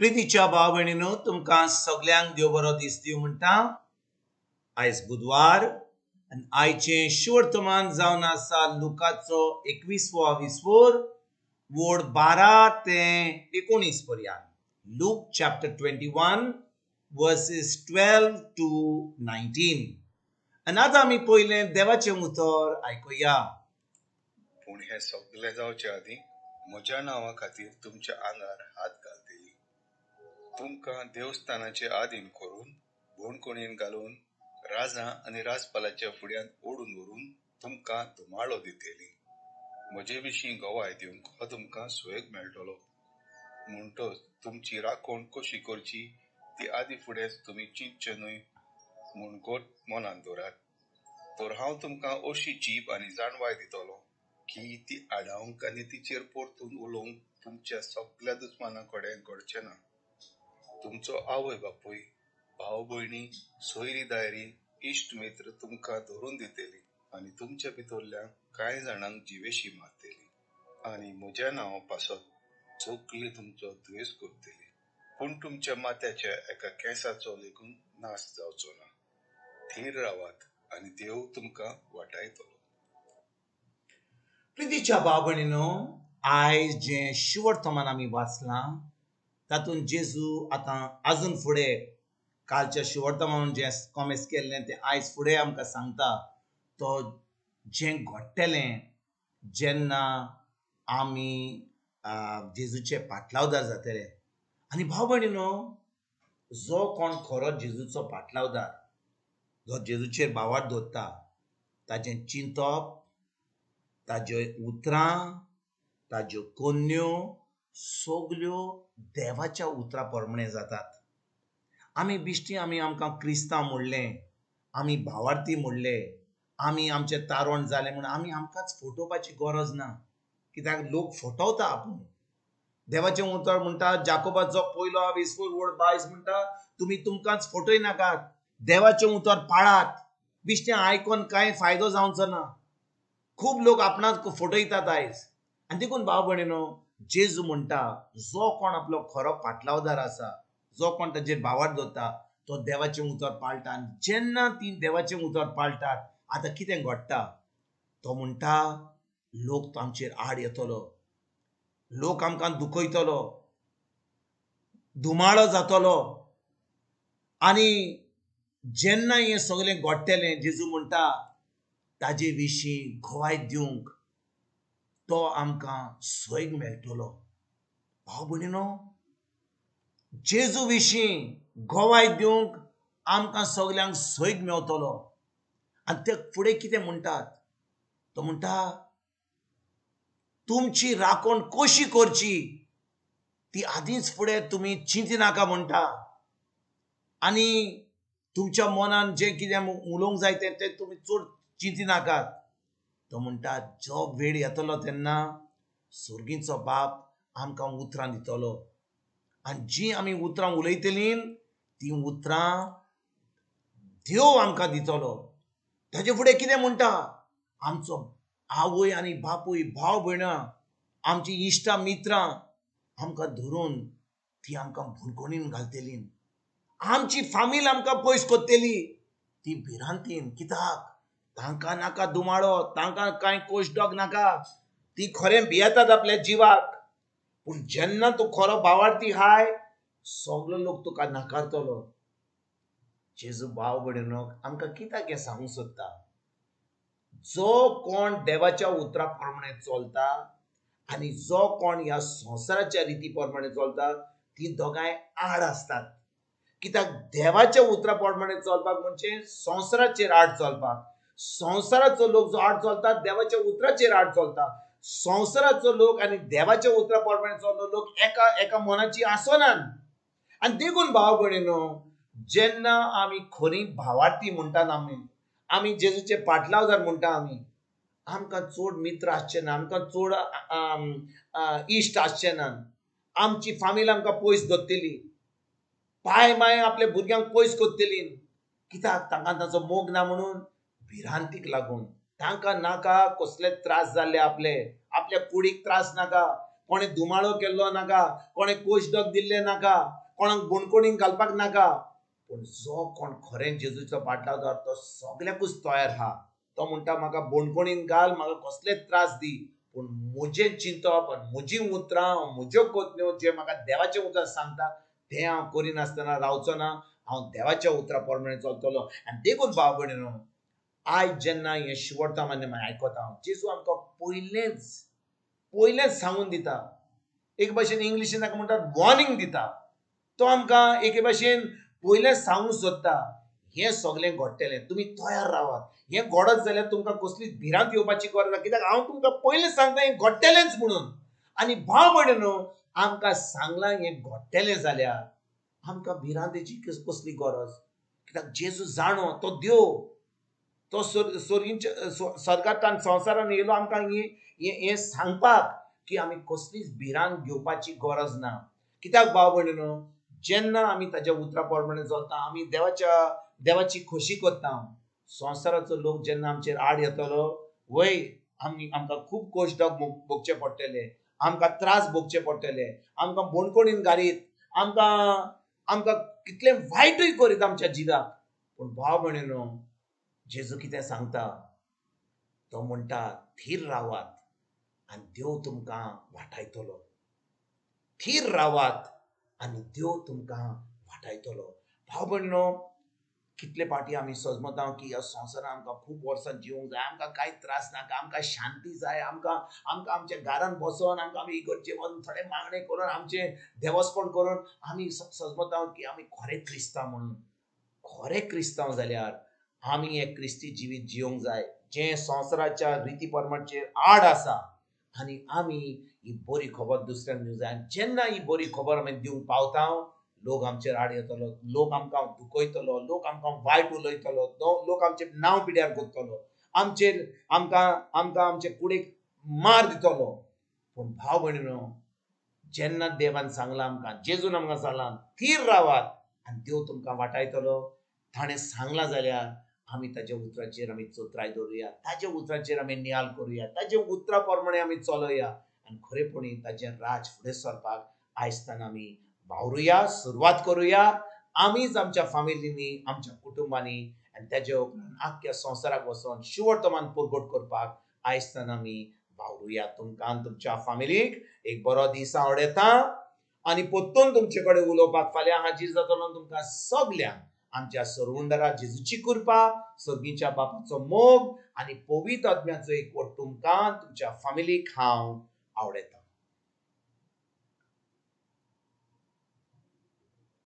प्रितीच्या भाव भयणीनो, तुमकां सगल्यांक देव बरो दीस दिवं म्हणटा. आयज बुधवार आनी आयचें शिवर्तमान जावन आसा लुकाचो 21वो विसवोर वोड 12 ते 19 पर्यंत. Luke chapter 21 verses 12 to 19. आनी आतां आमी पयलें देवाचें उतर आयकुया. पूण हें सगलें जावचे आदीं म्हज्या नांवा खातीर तुमच्या आंगार हात घालतली. तुमकां देवस्थानाचे आदीन करून बोणकोणीन घालून राजा आनी राजपालाच्या फुड्यांत ओडून व्हरून तुमकां धुमाळो दितली. म्हजे विशीं गवाय दिवंक हो तुमकां सुयोग मेळटलो. म्हणटच तुमची राखण कशी करची ती आदी फुडेंच तुमी चिंतचे न्हय म्हूण गोट मनान दवरात. तर हांव तुमकां अशी जीब आनी जाणवाय दितलो की ती आडावंक आनी तिचेर परतून उलोवंक तुमच्या सगल्या दुस्माना कडेन घडचें ना. तुमचो आवय बापूय, भाव भयणी, सोयरी दायरी, इश्ट मित्र तुमकां धरून दितली आनी तुमच्या भितरल्या कांय जाणांक जिवेशी मारतली आनी म्हज्या नांवा पासत सगळी तुमचो द्वेस करतली. पूण तुमच्या माथ्याच्या एका केंसाचो लेगून नाश जावचो ना. थीर रावात आनी देव तुमकां वाटायतलो. प्रितीच्या भाव भयणीनो, आयज जें शिवर्तमान आमी वाचलां तातूंत जेजू आतां आजून फुडें कालच्या शिवर्तमान जें कॉमेस केल्लें तें आयज फुडें आमकां सांगता. तो जें घडटलें जेन्ना आमी जेजूचे पाटलावदार जातले. आनी भाव भयणीनो, जो कोण खरो जेजूचो पाटलावदार, जो जेजूचेर भावार्थ दवरता, ताजें चिंतप, ताज्यो उतरां, ताज्यो कोन्न्यो सगल्यो देवाच्या उतरां प्रमाणे जातात. आमी बिश्टी आमी आमकां क्रिस्तांव म्हणलें, आमी भावार्थी म्हणले, आमी आमचें तारण जालें म्हूण आमी आमकांच फटोवपाची गरज ना. कित्याक लोक फटवता आपूण. देवाचें उतर म्हणटा, जाकोबाचो पयलो 20 वोड 22 म्हणटा, तुमी तुमकांच फटय नाकात, देवाचें उतर पाळात. बिश्टें आयकोन कांय फायदो जावचो ना. खूब लोक आपणाक फटयतात आयज. आनी देखून भाव भयणीनो, जेजू म्हणटा जो कोण आपलो खरो पाटलावदार आसा, जो कोण ताजेर भावार्थ दवरता, तो देवाचें उतर पाळटा. आनी जेन्ना ती देवाचें उतर पाळटात, आतां कितें घडटा? तो म्हणटा लोक आमचेर आड येतलो, लोक आमकां दुखयतलो, धुमाळो जातलो. आनी जेन्ना हें सगलें घडटलें, जेजू म्हणटा ताजे विशीं गवाय दिवंक तो आमकां सोयग मेळटलो. भाव भयणीनो, जेजू विशीं गवाय दिवंक आमकां सगल्यांक सोयग मेळटलो. आनी ते फुडें कितें म्हणटात? तो म्हणटा तुमची राखण कशी करची ती आदींच फुडें तुमी चिंती नाका म्हणटा. आनी तुमच्या मनान जें कितें उलोवंक जाय तें तुमी चड चिंती नाकात. तो म्हणटा जो वेळ येतलो तेन्ना सर्गीचो बाप आमकां उतरां दितलो आनी जीं आमी उतरां उलयतलीं तीं उतरां देव आमकां दितलो. ताजे फुडें कितें म्हणटा? आमचो आवय आनी बापूय, भाव भयणां, आमची इश्टां मित्रां आमकां धरून ती आमकां भुरगणीन घालतली, आमची फामील आमकां पयस करतली. ती भिरांतीन, कित्याक तांकां नाका दुमाळो, तांकां कांय कोशडोग नाका, ती खरें भियेतात आपल्या जिवाक. पूण जेन्ना तूं खरो भावार्थी हाय, सगलो लोक तुका नाकारतलो. जेजू भाव भयणीनो आमकां कित्याक हें सांगूंक सोदता? जो कोण देवाच्या उतरा प्रमाणे चलता आनी जो कोण ह्या संवसाराच्या रिती प्रमाणे चलता, ती दोगांय आड आसतात. कित्याक देवाच्या उतरा प्रमाणे चलपाक म्हणजे संवसाराचेर आड चलपाक. संवसाराचो लोक जो आड चलता, देवाच्या उतराचेर आड चलता. संवसाराचो लोक आनी देवाच्या उतरा प्रमाणे चललो लोक एका एका मनाची आसनात. आनी देखून भाव भयणीनो, जेन्ना आमी खरी भावार्थी म्हणटात, आमी जेजूचे पाटलावदार म्हणटा, आमी आमकां चड मित्र आसचे ना, आमकां चड इश्ट आसचे ना, आमची फामील आमकां पयस दवरतली, पाय माय आपल्या भुरग्यांक पयस करतली. कित्याक तांकां ताचो मोग ना म्हणून, भिरांतीक लागून. तांकां नाका कसले त्रास जाल्ले, आपले आपल्या कुडीक त्रास नाका. कोणें धुमाळो केल्लो नाका, कोणें कोशडोक दिल्लें नाका, कोणाक बोणकोणीन घालपाक नाका. पूण जो कोण खरें जेजूचो पाटलावदार तो सगल्याकूच तयार आहा. तो म्हणटा म्हाका बोणकोणीन घाल, म्हाका कसलेच त्रास दी, पूण म्हजें चिंतप आनी म्हजीं उतरां म्हज्यो कोतन्यो जे म्हाका देवाचें उतर सांगता तें हांव करिनासतना रावचो ना. हांव देवाच्या उतरा प्रमाणे चलतलो. आनी देखून भाव भयणीनो, आयज जेन्ना हें शिवडता मान्य आयकता, जेजू आमकां पयलेंच सांगून दिता. एक भाशेन इंग्लिशीन ताका म्हणटात वॉर्निंग दिता. तो आमकां एके भाशेन पयलेंच सांगूंक सोदता, हें सगळें घडटलें, तुमी तयार रावात. हें घडत जाल्यार तुमकां कसलीच भिरांत येवपाची गरज ना, कित्याक हांव तुमकां पयलें सांगता हें घडटलेंच म्हणून. आनी भाव भयणीनो, आमकां सांगलां हें घडटलें जाल्यार आमकां भिरांतेची कसली गरज? कित्याक जेजू जाणो, तो देव, तो सोर्गींच्या स्वर्गांतल्यान संवसारान येयलो आमकां हें सांगपाक की आमी कसलीच भिरांत घेवपाची गरज ना. कित्याक भाव भयणीनो, जेन्ना आमी ताज्या उतरा प्रमाणे चलता, आमी देवाची खोशी करता, संवसाराचो लोक जेन्ना आमचेर आड येतलो, वय आमी आमकां खूब कोशडोक भोगचे पडटले, आमकां त्रास भोगचे पडटले, आमकां बोणकोणीन घालीत, आमकां कितलें वायटूय करीत आमच्या जिवाक. पूण भाव भयणीनो, जेजू कितें सांगता? तो म्हणटा थीर रावात आनी देव तुमकां वाटायतलो. थीर रावात आनी देव तुमकां वाटायतलो. भाव भयणीनो, कितले फावटी आमी सजमता की ह्या संवसारान आमकां खूब वर्सां जिवंक जाय, आमकां कांय त्रास नाका, आमकां शांती जाय, आमकां आमकां आमच्या घरान बसोन आमकां आमी इगर्जे वचून थोडे मागणें करून आमचें देवस्पण करून आमी सजमता की आमी खरें क्रिस्तांव म्हणून. खरें क्रिस्तांव जाल्यार आमी एक क्रिस्ती जिवीत जिवंक जाय, जें संवसाराच्या रिती परमाचेर आड आसा. आनी आमी ही बरी खबर दुसऱ्यांक दिवंक जाय. आनी जेन्ना ही बरी खबर आमी दिवंक पावता, लोक आमचेर आड येतलो, लोक आमकां दुखयतलो, लोक आमकां वायट उलयतलो, लोक आमचें नांव पिड्यार करतलो, आमचेर आमकां आमकां आमचे कुडीक मार दितलो. पूण भाव भयणीनो, जेन्ना देवान सांगलां आमकां, जेजून आमकां सांगलां थीर रावात आनी देव तुमकां वाटायतलो, ताणें सांगलां जाल्यार आमी ताज्या उतराचेर आमी चतुराय दवरुया, ताज्या उतराचेर आमी नियाल करुया, ताज्या उतरा प्रमाणे आमी चलोया आनी खरेपणी ताजें राज फुडें सरपाक आयजताना आमी वावरुया, सुरवात करुया. आमीच आमच्या फामिलींनी, आमच्या कुटुंबांनी आनी ताज्या उपरांत आख्ख्या संवसाराक वचोन शिवडतमान परगट करपाक आयजताना आमी वावरुया. तुमकां आनी तुमच्या फामिलीक एक बरो दीस आवडटा आनी परतून तुमचे कडेन उलोवपाक फाल्यां हाजीर जातलो. तुमकां सगल्यांक आमच्या सरवंडरा जेजूची कृपा, सर्गीच्या बापाचो मोग आनी पवित्र आत्म्याचो एकवट तुमकां तुमच्या फामिलीक हांव आवडटा.